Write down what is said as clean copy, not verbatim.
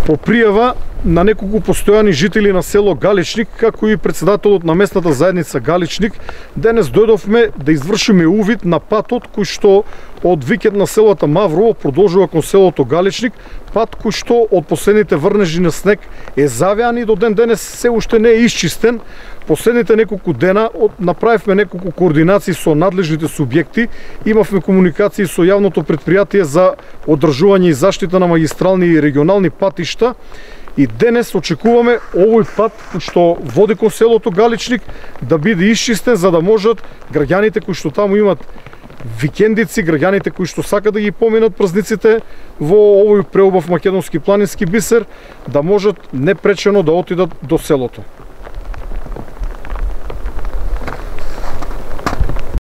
По пријава на неколку постојани жители на село Галичник, како и председателот на местната заедница Галичник, денес дојдовме да извршиме увид на патот кој што од викенд на селото Маврово продолжува кон селото Галичник, пат кој што од последните врнежи на снег е завеан и до ден денес се уште не е исчистен. Последните неколку дена направивме неколку координации со надлежните субјекти, имавме комуникации со јавното претпријатие за одржување и заштита на магистрални и регионални патишта. И денес очекуваме овој пат што води кон селото Галичник да биде исчистен, за да можат граѓаните кои што таму имат викендици, граѓаните кои што сакат да ги поминат празниците во овој преубав македонски планински бисер, да можат непречено да отидат до селото.